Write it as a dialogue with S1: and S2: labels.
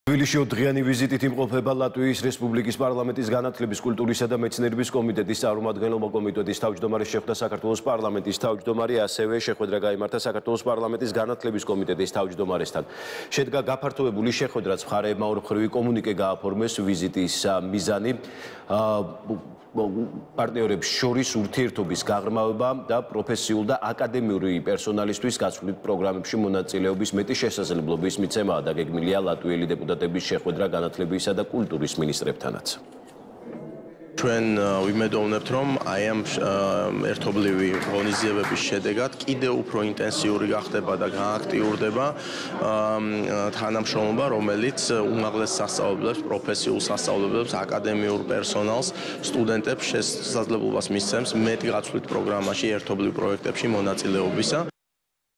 S1: თბილისში დღიანი ვიზიტით იმყოფება ლატვიის რესპუბლიკის პარლამენტის განათლების, კულტურისა და მეცნიერების კომიტეტის წარმომადგენლობა კომიტეტის თავმჯდომარის შეხვდა საქართველოს პარლამენტის თავმჯდომარე, ასევე შეხვედრა გაიმართა საქართველოს პარლამენტის განათლების კომიტეტის თავმჯდომარესთან. შედგა გაფართოებული შეხვედრაც, მხარეებმა ორმხრივი კომუნიკე გააფორმეს ვიზიტის მიზანი პარტნიორებს შორის ურთიერთობის გაღრმავება და პროფესიულ და აკადემიური პერსონალისთვის გაცვლით პროგრამებში მონაწილეობის მეტი შესაძლებლობის მიცემაა დაგეგმილია ლატვიელი დეპუტატების შეხვედრა განათლებისა და კულტურის მინისტრებთანაც.
S2: ჩვენ ვიმედოვნებთ, რომ აი ამ ერთობლივი ღონისძიებების შედეგად კიდევ უფრო ინტენსიური გახდება და გააქტიურდება თანამშრომლობა, რომელიც უმაღლეს სასწავლებლებს, პროფესიულ სასწავლებლებს, აკადემიურ პერსონალს, სტუდენტებს შესაძლებლობას მისცემს მეტ გაცვლით პროგრამაში, ერთობლივ პროექტებში მონაწილეობისა.